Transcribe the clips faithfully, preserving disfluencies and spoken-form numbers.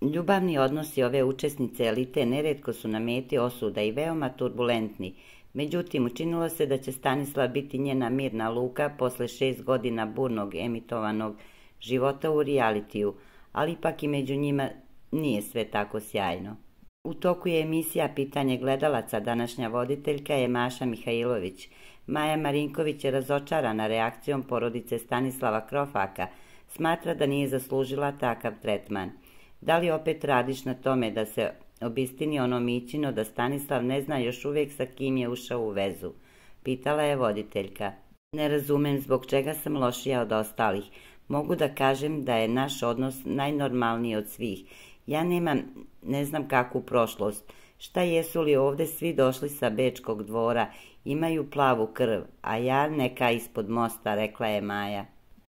Ljubavni odnosi ove učesnice elite neretko su na meti osuda i veoma turbulentni. Međutim, učinilo se da će Stanislav biti njena mirna luka posle šest godina burnog emitovanog života u realitiju, ali ipak i među njima nije sve tako sjajno. U toku je emisija Pitanje gledalaca, današnja voditeljka je Maša Mihajlović. Maja Marinković je razočarana reakcijom porodice Stanislava Krofaka, smatra da nije zaslužila takav tretman. Da li opet radiš na tome da se obistini ono mićino da Stanislav ne zna još uvijek sa kim je ušao u vezu? Pitala je voditeljka. Ne razumem zbog čega sam lošija od ostalih. Mogu da kažem da je naš odnos najnormalniji od svih. Ja nemam ne znam kakvu prošlost. Šta jesu li ovde svi došli sa Bečkog dvora, imaju plavu krv, a ja neka ispod mosta, rekla je Maja.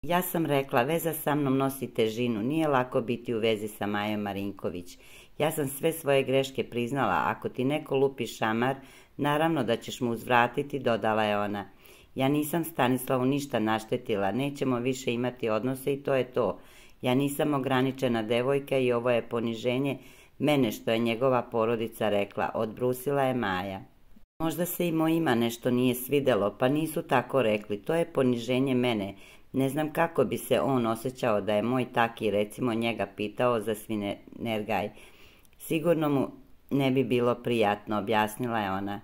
Ja sam rekla, veza sa mnom nosi težinu, nije lako biti u vezi sa Majom Marinković. Ja sam sve svoje greške priznala, ako ti neko lupi šamar, naravno da ćeš mu uzvratiti, dodala je ona. Ja nisam Stanislavu ništa naštetila, nećemo više imati odnose i to je to. Ja nisam ograničena devojka i ovo je poniženje mene što je njegova porodica rekla, odbrusila je Maja. Možda se i mojima nešto nije svidelo, pa nisu tako rekli, to je poniženje mene. Ne znam kako bi se on osjećao da je moj taki recimo njega pitao za svinergaj. Sigurno mu ne bi bilo prijatno, objasnila je ona.